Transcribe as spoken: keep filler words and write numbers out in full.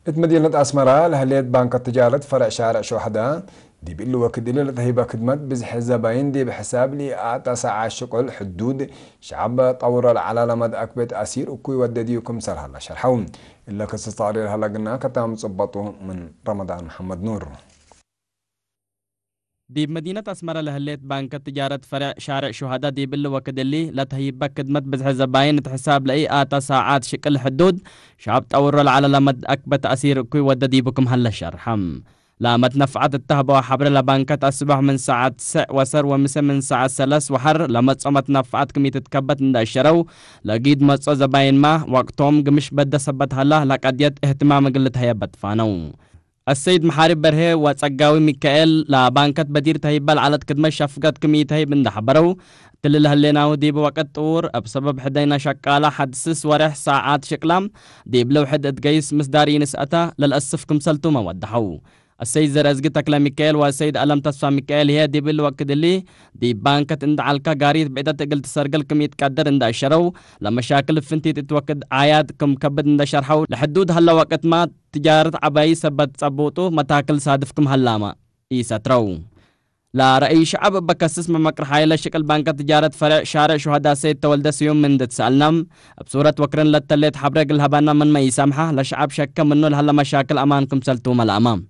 እት መዲነት አስመረ ለህሌት ባንክ ትጃረት ፈርዕ ሻርዕ ሹሀዳ፣ ዲብ እሊ ወክድ እሊ ለተህይበ ክድመት ብዝሒ ዘባይን ዲብ ሕሳብ ለኢአተ ሳዓት ሽቁል ሕዱድ ሸዐብ ጠውሮ ለዐለ ለመትአክበት አሲር እኩይ ወደድዩ ክምሰል ሀለ ሸርሐው። እለ ክስስ ተቅሪር ሀለ ግና ከታም ጽበጡ ምን ረመዳን መሐመድ ኑር። ዲብ መዲነት አስመረ ለህሌት ባንክ ትጃረት ፈርዕ ሻርዕ ሹሀዳ ዲብ እሊ ወክድ እሊ ለተህይበ ክድመት ብዝሒ ዘባይን እት ሕሳብ ለኢአተ ሳዓት ሽቅል ሕዱድ ሸዐብ ጠውሮ ለዐለ ለመትአክበት አሲር እኩይ ወደ ዲቡ ክም ሀለ ሸርሐ። ለመትነፍዐት እተህበወ ሐብረ ለባንከት አስቦሕ ምን ሳዐት ሰዕ ወሰር ወምሰ ምን ሳዐት ሰለስ ወሐር ለመጽኦ መትነፍዐት ክም ኢትትከበት እንደ አሸረው፣ ለጊድ መጽኦ ዘባይንማ ወቅቶም ግምሽ በደ ሰበት ሀላ ለቀድየት እህትማም እግል ልትሀየብ በትፋነው። አሰይድ መሓሪ በርሄ ወጸጋዊ ሚካኤል ለባንከት በዲር ተህይበ ለዐለት ክድመት ሸፍገት ክም ኢተህይብ እንደ ሐበረው፣ እትሊ ለህሌናሁ ዲብ ወቅት ጥዉር እብ ሰበብ ሕደይነ ሸቃላ ሐድ ስስ ወሬሕ ሳዓት ሽቅላም ዲብ ለውሕድ እት ገይስ ምስዳር ኢንስአተ ለልአስፍ ክምሰልቱመ ወደሐው። አሰይድ ዘርአዝጊ ተክለ ሚካኤል ወአሰይድ አለም ተስፋ ሚካኤል ህዬ ዲብ እሊ ወቅት እሊ ዲብ ባንከት እንደ ዐልከ ጋሪት ብዕደት እግል ትሰርግል ክም ኢትቀድር እንደ አሸረው፣ ለመሻክል ፍንቲት እት ወቅት አያድ ክም ከብድ እንደ ሸርሐው፣ ለሕዱድ ሀለ ወቅትማ ትጃረት ዐባይ ሰበት ጸቡጡ መታክል ሳድፍ ክም ሀላመ ኢሰትረው። ለረአይ ሸዐብ እበ ከስስ መመቅር ሓይለ ሽቅል ባንከ ትጃረት ፈሬዕ ሻሬዕ ሹሀዳ ሰይድ ተወልደ ስዩም ምን እንዴ ትሰአልናም፣ እብ ሱረት ወክርን ለተሌት ሐብሬ እግል ሀባና ምንመ ኢሰምሐ፣ ለሸዐብ ሸከ ምኑ ለሀለ መሻክል አማን ክምሰል ቱመ ለአማም።